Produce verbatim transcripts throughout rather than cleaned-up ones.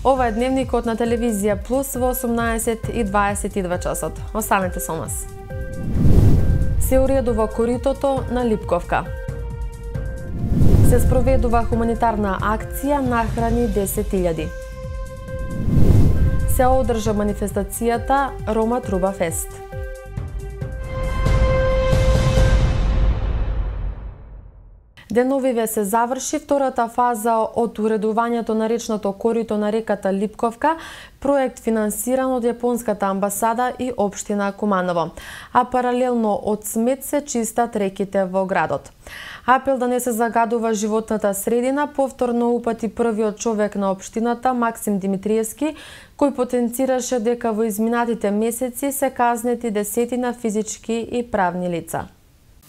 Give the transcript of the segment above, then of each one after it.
Ова е дневникот на телевизија Плюс во осумнаесет и дваесет и два часот. Останете со нас. Се уредува коритото на Липковка. Се спроведува хуманитарна акција Нахрани десет илјади. Се одржа манифестацијата Рома Труба Фест. Деновиве се заврши втората фаза од уредувањето на речното корито на реката Липковка, проект финансиран од Јапонската амбасада и општина Куманово, а паралелно од смет се чистат реките во градот. Апел да не се загадува животната средина повторно упати првиот човек на општината Максим Димитриевски, кој потенцираше дека во изминатите месеци се казнети десетина физички и правни лица.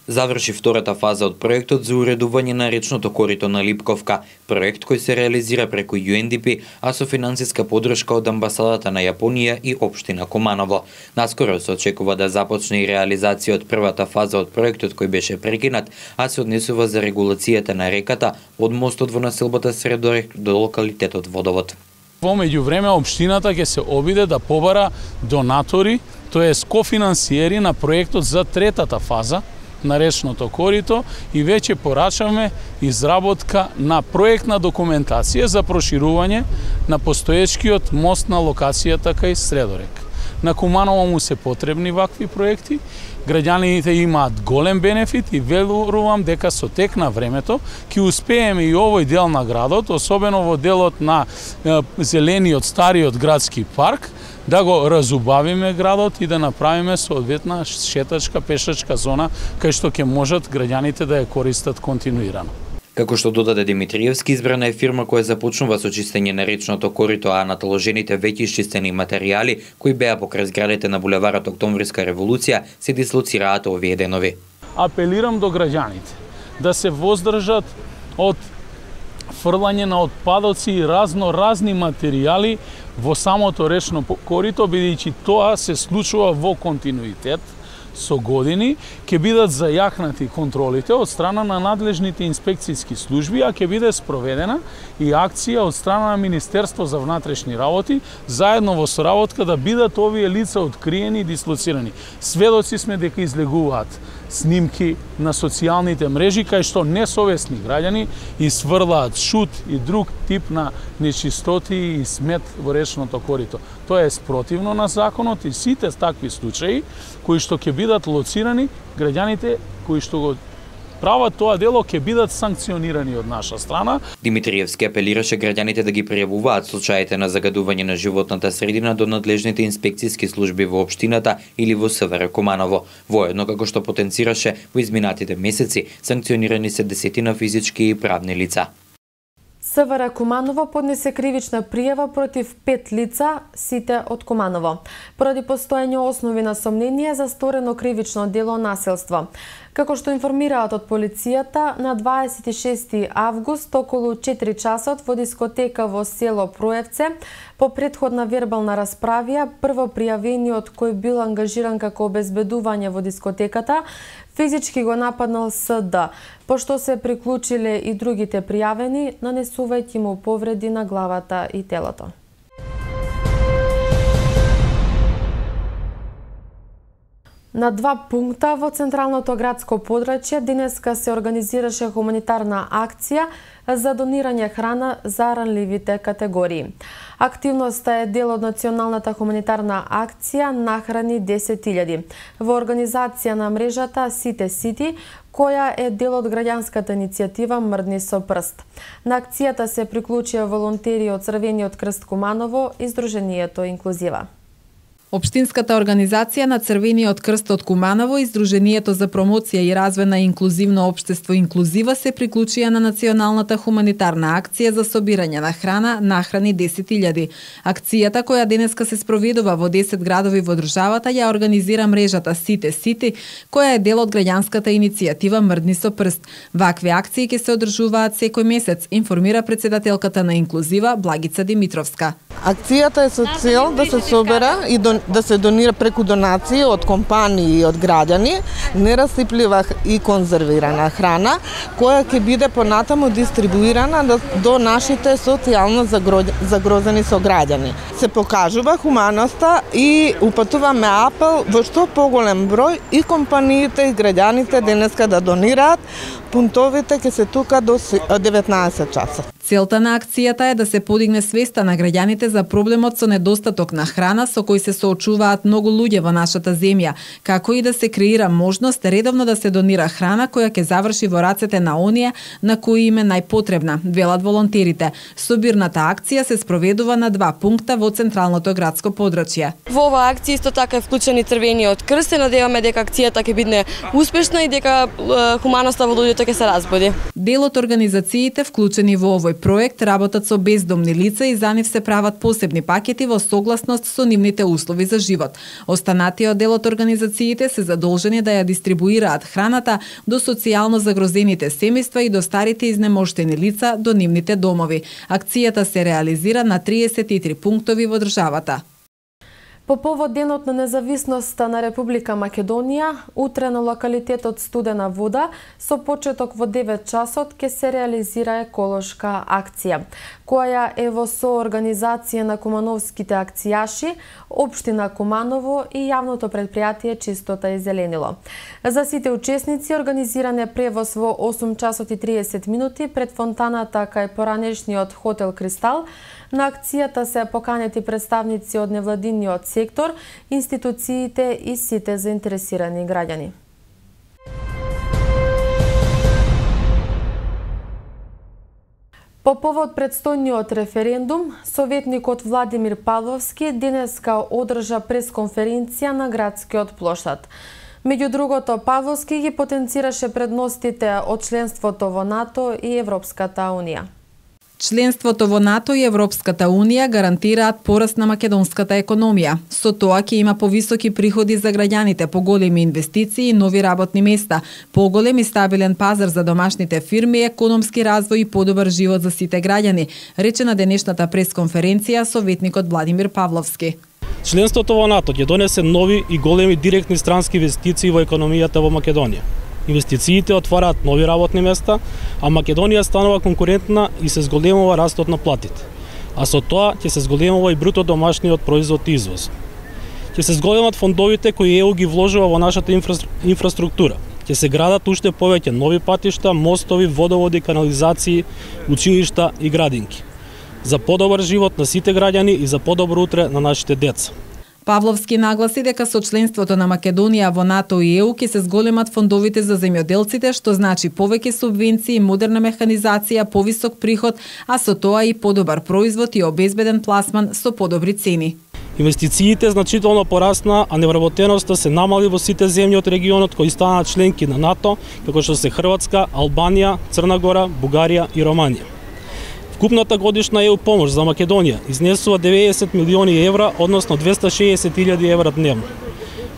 Заврши втората фаза од проектот за уредување на речното корито на Липковка, проект кој се реализира преку Ю Ен Ди Пи, а со финансиска поддршка од амбасадата на Јапонија и општина Куманово. Наскоро се очекува да започне и реализација од првата фаза од проектот кој беше прекинат, а се однесува за регулацијата на реката од мостот во населбата Средорек до локалитетот Водовод. Во меѓувреме општината ќе се обиде да побара донатори, тоест кофинансиери на проектот за третата фаза на речното корито и веќе порачаме изработка на проектна документација за проширување на постоечкиот мост на локацијата кај Средорек. На Куманово му се потребни вакви проекти, граѓаните имаат голем бенефит и верувам дека со тек на времето ќе успееме и овој дел на градот, особено во делот на е, зелениот стариот градски парк, да го разубавиме градот и да направиме соодветна шетачка, пешачка зона кај што ќе можат граѓаните да ја користат континуирано. Како што додаде Димитриевски, избрана е фирма која започнува со чистење на речното корито, а наталожените веќе исчистени материјали кои беа покрај зградите на булеварот Октомвриска револуција се дислоцираат овие денови. Апелирам до граѓаните да се воздржат од фрлање на отпадоци и разно разни материјали во самото речно корито, бидејќи тоа се случува во континуитет со години, ќе бидат зајакнати контролите од страна на надлежните инспекцијски служби, а ќе биде спроведена и акција од страна на Министерство за внатрешни работи, заедно во соработка да бидат овие лица откриени и дислоцирани. Сведоци сме дека излегуваат снимки на социјалните мрежи кај што несовесни граѓани исврлаат шут и друг тип на нечистоти и смет во речното корито. Тоа е спротивно на законот и сите такви случаи кои што ќе бидат лоцирани, граѓаните кои што го прават тоа дело ќе бидат санкционирани од наша страна. Димитриевски апелираше граѓаните да ги пријавуваат случаите на загадување на животната средина до надлежните инспекцијски служби во општината или во С В Р Куманово. Воедно како што потенцираше во изминатите месеци, санкционирани се десетина физички и правни лица. С В Р Куманово поднесе кривична пријава против пет лица, сите од Куманово, поради постоење основи на сомнение за сторено кривично дело насилство. Како што информираат од полицијата, на дваесет и шести август околу четири часот во дискотека во село Проевце, по претходна вербална расправија, прво пријавениот кој бил ангажиран како обезбедување во дискотеката, физички го нападнал С Д, пошто се приклучиле и другите пријавени, нанесувајќи му повреди на главата и телото. На два пункта во централното градско подрачје денеска се организираше хуманитарна акција за донирање храна за ранливите категории. Активноста е дел од националната хуманитарна акција Нахрани десет илјади во организација на мрежата Сите Сити, која е дел од граѓанската иницијатива Мрдни со прст. На акцијата се приклучија волонтери од Црвениот крст Куманово и Сдруженијето Инклузива. Општинската организација на Црвениот крст од Куманово и Сдруженијето за промоција и развој на инклузивно општество Инклузива се приклучија на националната хуманитарна акција за собирање на храна Нахрани десет илјади. Акцијата, која денеска се спроведува во десет градови во државата, ја организира мрежата Сите Сити, која е дел од граѓанската иницијатива Мрдни со прст. Вакви акции ќе се одржуваат секој месец, информира председателката на Инклузива Благица Димитровска. Акцијата е со цел да се собера и дон, да се донира преку донации од компании и од граѓани нерасиплива и конзервирана храна, која ќе биде понатаму дистрибуирана до нашите социјално загрозени сограѓани. Се покажува хуманоста и упатуваме апел во што поголем број и компаниите и граѓаните денеска да донираат. Пунктовите ќе се тука до деветнаесет часот. Целта на акцијата е да се подигне свеста на граѓаните за проблемот со недостаток на храна со кој се соочуваат многу луѓе во нашата земја, како и да се креира можност редовно да се донира храна која ќе заврши во рацете на оние на кои им е најпотребна, велат волонтерите. Собирната акција се спроведува на два пункта во централното градско подрачје. Во оваа акција исто така е вклучен и Црвениот крст. Се надеваме дека акцијата ќе биде успешна и дека хуманоста во луѓето ќе се разбуди. Дел од организациите вклучени во овој проект работат со бездомни лица и за нив се прават посебни пакети во согласност со нивните услови за живот. Останатиот дел од организациите се задолжени да ја дистрибуираат храната до социјално загрозените семејства и до старите изнемоштени лица до нивните домови. Акцијата се реализира на триесет и три пунктови во државата. По повод Денот на независноста на Република Македонија, утре на локалитетот Студена вода, со почеток во девет часот ќе се реализира еколошка акција, која е во соорганизација на кумановските акцијаши, Општина Куманово и јавното предпријатие Чистота и зеленило. За сите учесници организиран е превоз во осум часот и триесет минути пред фонтаната кај поранешниот хотел Кристал. На акцијата се поканети представници од невладиниот сектор, институциите и сите заинтересирани граѓани. По повод предстојниот референдум, советникот Владимир Павловски денеска одржа пресконференција на градскиот плоштад. Меѓу другото, Павловски ги потенцираше предностите од членството во НАТО и Европската унија. Членството во НАТО и Европската унија гарантираат пораст на македонската економија. Со тоа ќе има повисоки приходи за граѓаните, поголеми инвестиции и нови работни места, поголем и стабилен пазар за домашните фирми, економски развој и подобар живот за сите граѓани, рече на денешната пресконференција советникот Владимир Павловски. Членството во НАТО ќе донесе нови и големи директни странски инвестиции во економијата во Македонија. Инвестициите отвараат нови работни места, а Македонија станува конкурентна и се зголемува растот на платите. А со тоа ќе се зголемува и бруто домашниот производ и извоз. Ќе се зголемат фондовите кои ЕУ ги вложува во нашата инфра... инфраструктура. Ќе се градат уште повеќе нови патишта, мостови, водоводи, канализации, училишта и градинки. За подобар живот на сите граѓани и за подобро утре на нашите деца. Павловски нагласи дека со членството на Македонија во НАТО и ЕУ ќе се зголемат фондовите за земјоделците, што значи повеќе субвенции, модерна механизација, повисок приход, а со тоа и подобар производ и обезбеден пласман со подобри цени. Инвестициите значително порасна, а невработеноста се намали во сите земји од регионот кои станаа членки на НАТО, како што се Хрватска, Албанија, Црна Гора, Бугарија и Романија. Вкупната годишна ЕУ помош за Македонија изнесува деветдесет милиони евра, односно двесте шеесет илјади евра дневно.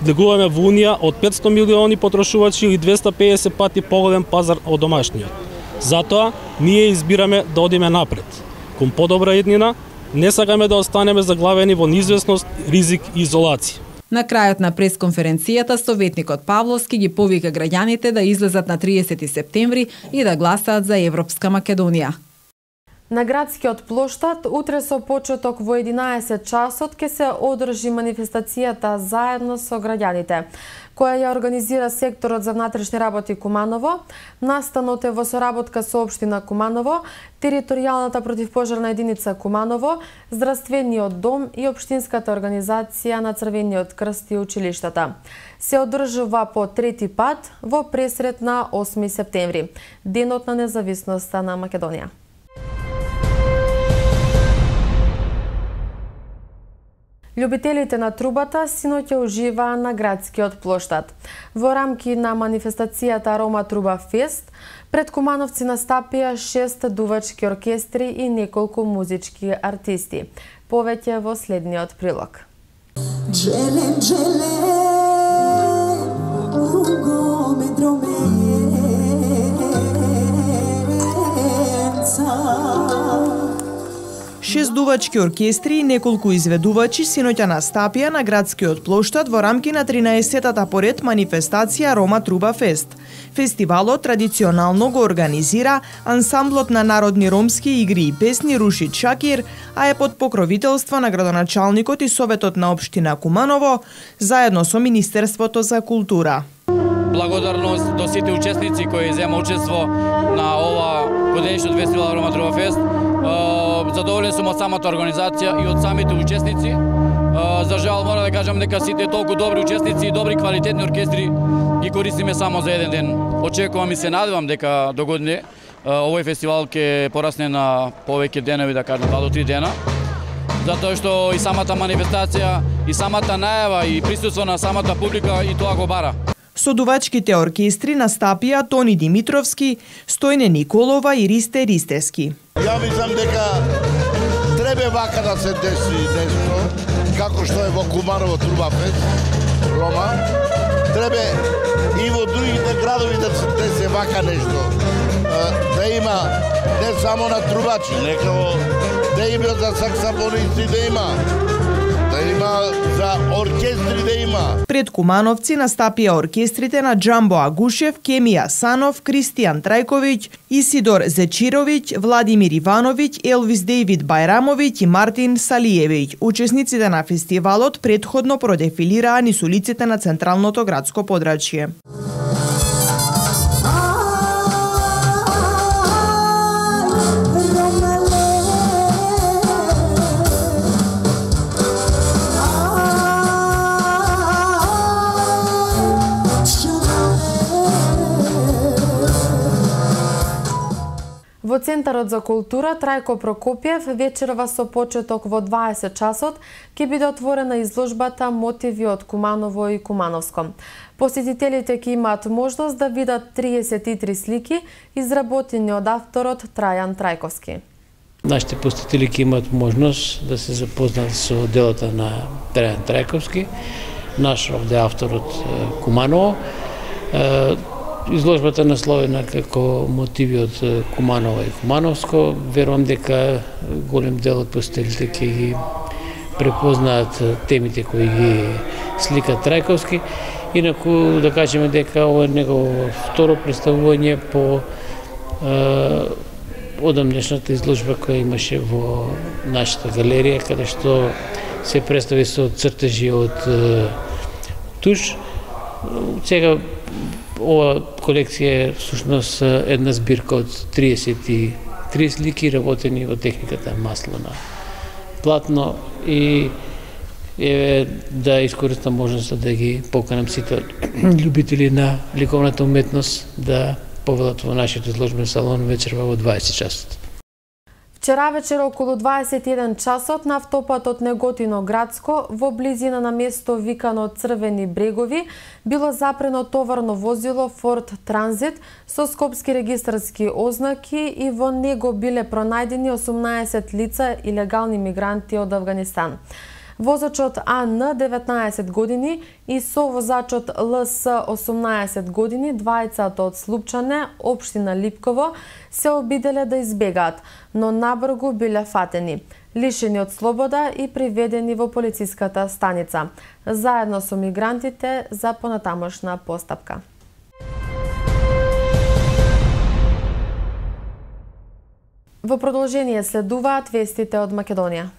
Влегуваме во Унија од петсто милиони потрошувачи или двесте педесет пати поголем пазар од домашниот. Затоа, ние избираме да одиме напред, кон подобра еднина, не сакаме да останеме заглавени во неизвестност, ризик и изолација. На крајот на пресконференцијата, советникот Павловски ги повика граѓаните да излезат на триесети септември и да гласаат за Европска Македонија. На градскиот плоштад утре со почеток во единаесет часот ќе се одржи манифестацијата заедно со граѓаните, која ја организира секторот за внатрешни работи Куманово. Настанот е во соработка со Општина Куманово, територијалната противпожарна единица Куманово, здравствениот дом и Општинската организација на Црвениот крст и училиштата. Се одржува по трети пат во пресрет на осми септември, Денот на независноста на Македонија. Љубителите на трубата синоќа уживаа на градскиот плоштад. Во рамки на манифестацијата Арома Труба Фест, пред кумановци настапија шест дувачки оркестри и неколку музички артисти. Повеќе во следниот прилог. Джелен, джелен, ругоме дроменца. Шест дувачки оркестри и неколку изведувачи синоќа настапија на градскиот плоштад во рамки на тринаесеттата поред манифестација Рома Труба Фест. Фестивалот традиционално го организира ансамблот на народни ромски игри и песни Рушид Шакир, а е под покровителство на градоначалникот и Советот на општина Куманово, заедно со Министерството за култура. Благодарност до сите учесници кои зема учество на ова годинишниот фестивал Рома Труба Фест. Задоволен сум од самата организација и од самите учесници. За жал мора да кажам дека сите толку добри учесници и добри квалитетни оркестри ги користиме само за еден ден. Очекувам и се надевам дека до година овој фестивал ќе порасне на повеќе денови, да кажам два до три дена. Затоа што и самата манифестација, и самата најава, и присуство на самата публика и тоа го бара. Со дувачките оркестри настапија Тони Димитровски, Стојне Николова и Ристе Ристески. Ја мислам дека треба вака да се деси нешто, како што е во Куманово Труба Фест, Рома. Треба и во другите градови да се деси вака нешто. Да има не само на трубачи, нека да има за саксофонисти, да има. Да има за оркестри, да има. Пред кумановци настапија оркестрите на Джамбо Агушев, Кемија Санов, Кристијан Трајковиќ, Исидор Зечировиќ, Владимир Ивановиќ, Елвис Дејвид Бајрамовиќ и Мартин Салиевиќ. Учесниците на фестивалот претходно продефилираа низ улиците на централното градско подрачје. Во Центарот за култура Трајко Прокопиев вечерва со почеток во дваесет часот ќе биде отворена изложбата Мотиви од Куманово и Кумановско. Посетителите ќе имаат можност да видат триесет и три слики изработени од авторот Трајан Трајковски. Нашите посетители ќе имаат можност да се запознаат со делата на Трајан Трајковски, наш овде авторот Куманово. Изложбата насловена како Мотиви од Куманово и Кумановско. Верувам дека голем дел од посетителите ќе ги препознаат темите кои ги слика Трајковски. Инаку да кажеме дека ова е негово второ представување по е, одамнешната изложба која имаше во нашата галерија, каде што се представи со цртежи од е, туш. Сега ова колекција е всушност една збирка од триесет и три слики работени во техниката масло на платно и еве да искористам можноста да ги поканам сите љубители на ликовната уметност да повелат во нашиот изложбен салон вечерва во дваесет часот. Вчера вечер околу дваесет и еден часот на автопатот Неготино Градско во близина на место викано Црвени брегови било запрено товарно возило Форд Транзит со скопски регистарски ознаки и во него биле пронајдени осумнаесет лица илегални мигранти од Авганистан. Возачот А Н деветнаесет години и совозачот Л С осумнаесет години, двајцата од Слупчане, општина Липково, се обиделе да избегаат, но набрзо биле фатени, лишени од слобода и приведени во полициската станица, заедно со мигрантите за понатамошна постапка. Во продолжение следуваат вестите од Македонија.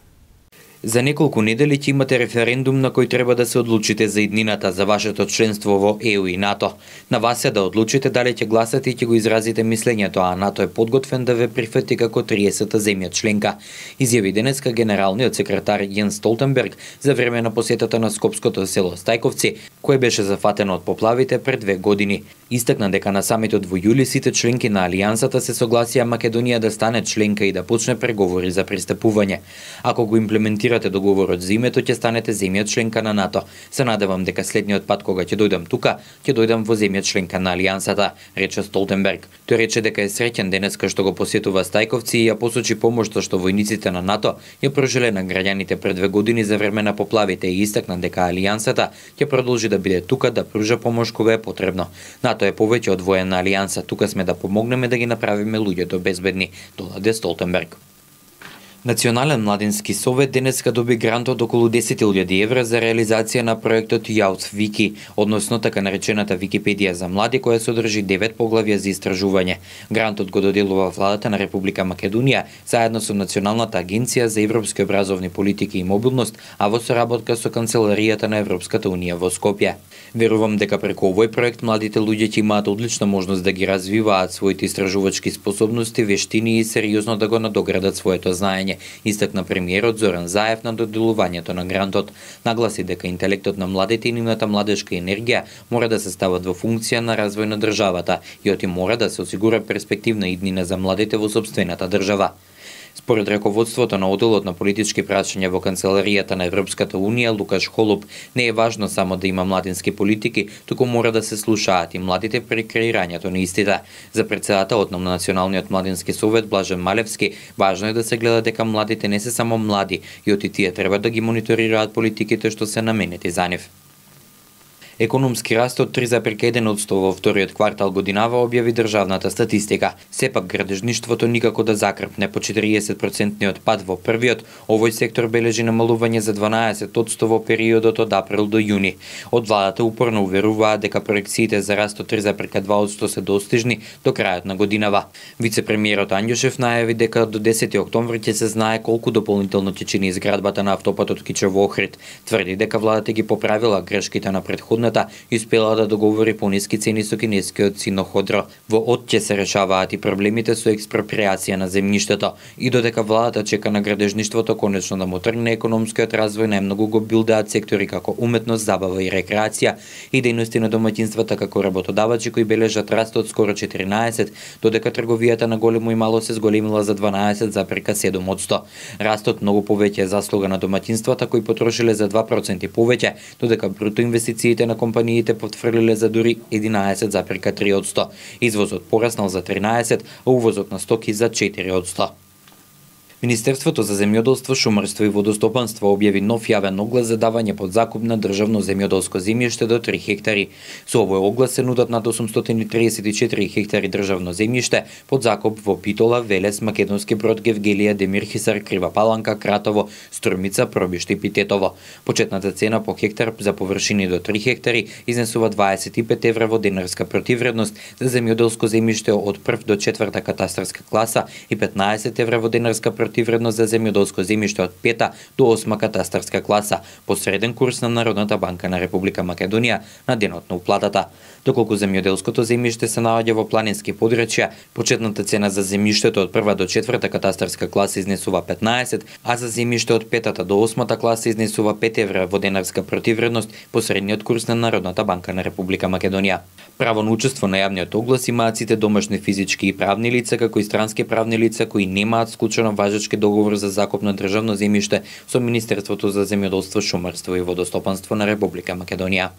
За неколку недели ќе имате референдум на кој треба да се одлучите за иднината за вашето членство во Е У и НАТО. На вас е да одлучите дали ќе гласате и ќе го изразите мислењето, а НАТО е подготвен да ве прифати како триесета земја членка, изјави денеска генералниот секретар Јенс Столтенберг за време на посетата на скопското село Стајковци, кое беше зафатено од поплавите пред две години. Истакна дека на самитот во јули сите членки на Алијансата се согласија Македонија да стане членка и да почне преговори за пристапување. Ако го имплементирате договорот за името, ќе станете земја членка на НАТО. Се надевам дека следниот пат кога ќе дојдам тука, ќе дојдам во земја членка на Алијансата, рече Столтенберг. Тој рече дека е среќен денеска што го посетува Стајковци и ја посочи помошта што војниците на НАТО ја прожеле на граѓаните пред две години за време на поплавите и истакна дека Алијансата ќе продолжи да биде тука да пружа помош кога е потребно. НАТО е повеќе од воена алијанса, тука сме да помогнеме да ги направиме луѓето безбедни, додаде Столтенберг. Национален младински совет денеска доби грант од околу десет илјади евра за реализација на проектот Youth Wiki, односно така наречената Википедија за млади, која содржи девет поглавја за истражување. Грантот го доделува владата на Република Македонија заедно со Националната агенција за европски образовни политики и мобилност, а во соработка со Канцеларијата на Европската унија во Скопје. Верувам дека преку овој проект младите луѓе ќе имаат одлична можност да ги развиваат своите истражувачки способности, вештини и сериозно да го надоградат своето знаење, истакна премиерот Зоран Заев на доделувањето на грантот. Нагласи дека интелектот на младите и нивната младешка енергија мора да се стават во функција на развој на државата и оти мора да се осигура перспективна иднина за младите во сопствената држава. Според раководството на одделот на политички прашања во Канцеларијата на Европската унија Лукаш Холуп, не е важно само да има младински политики, туку мора да се слушаат и младите при креирањето на истите. За претседателот на Националниот младински совет Блажен Малевски, важно е да се гледа дека младите не се само млади и оти тие треба да ги мониторираат политиките што се наменети за нив. Економски раст од три зарез еден одсто во вториот квартал годинава објави државната статистика. Сепак градежништвото никако да закрпне по четириесет процентниот пад во првиот, овој сектор бележи намалување за дванаесет одсто во периодот од април до јуни. Од владата упорно уверуваат дека проекциите за раст од три зарез два одсто се достижни до крајот на годинава. Вице-премиерот Анѓушев најави дека до десети октомври ќе се знае колку дополнително ќе чини изградбата на автопатот Кичево Охрид. Тврди дека владата ги поправила грешките на претходната и успела да договори пониски цени со кинескиот Синоходро. Во од ќе се решаваат и проблемите со експроприација на земјиштето. И додека владата чека на градежништвото конечно да му тргне економскиот развој, најмногу го билдаат сектори како уметност, забава и рекреација и дејности на домаќинствата како работодавачи кои бележат раст од скоро четиринаесет, додека трговијата на големо и мало се зголемила за дванаесет зарез седум одсто. Растот многу повеќе е заслуга на домаќинствата кои потрошиле за два проценти повеќе, додека бруто инвестициите на компаниите потврлиле за дури единаесет зарез три одсто. Извозот пораснал за тринаесет, а увозот на стоки за четири одсто. Министерството за земјоделство, шумарство и водостопанство објави нов јавен оглас за давање под закуп на државно земјоделско земјиште до три хектари. Со овој оглас се нудат над осумстотини триесет и четири хектари државно земјиште под закуп во Битола, Велес, Македонски Брод, Гевгелија, Демирхисар, Крива Паланка, Кратово, Струмица, Пробиште и Питетово. Почетната цена по хектар за површини до три хектари изнесува дваесет и пет евра во денарска противредност за земјоделско земјиште од прв до четврта катастарска класа и петнаесет евра во денарска противредност за земјоделско земјиште од пета до осма катастарска класа по среден курс на Народната банка на Република Македонија на денот на уплатата. Доколку земјоделското земјиште се наоѓа во планински подрачја, почетната цена за земјиштето од прва до четврта катастарска класа изнесува петнаесет, а за земјиште од петата до осмата класа изнесува пет евра во денарска противредност по средниот курс на Народната банка на Република Македонија. Право на учество на јавниот оглас имаат сите домашни физички и правни лица, како и странски правни лица кои немаат склучено важечки договор за закуп на државно земјиште со Министерството за земјоделство, шумарство и водостопанство на Република Македонија.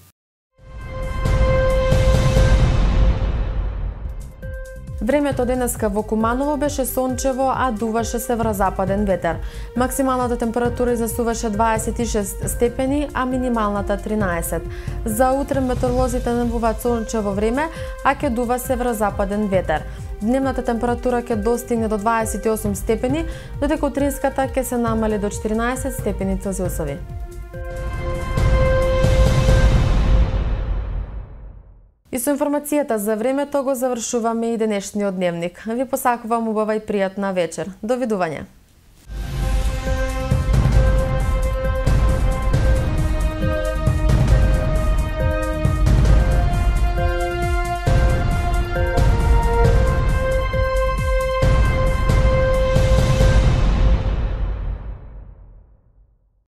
Времето денеска во Куманово беше сончево, а дуваше северозападен ветер. Максималната температура изнесуваше дваесет и шест степени, а минималната тринаесет. За утре метеоролозите најавуваат сончево време, а ќе дува северозападен ветер. Дневната температура ќе достигне до дваесет и осум степени, додека утринската ќе се намали до четиринаесет степени Целзиусови. И со информацијата за времето го завршуваме и денешниот дневник. Ви посакувам убава и пријатна вечер. Довидување.